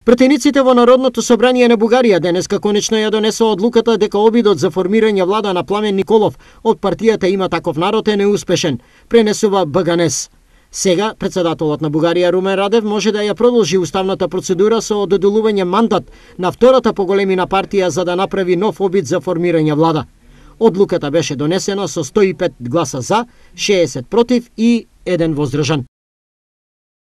Пратениците во Народното собрание на Бугарија денеска конечно ја донесоа одлуката дека обидот за формирање влада на Пламен Николов од партијата Има таков народ е неуспешен, пренесува БГНЕС. Сега, председателот на Бугарија Румен Радев може да ја продолжи уставната процедура со доделување мандат на втората поголемина партија за да направи нов обид за формирање влада. Одлуката беше донесена со 105 гласа за, 60 против и 1 воздржан.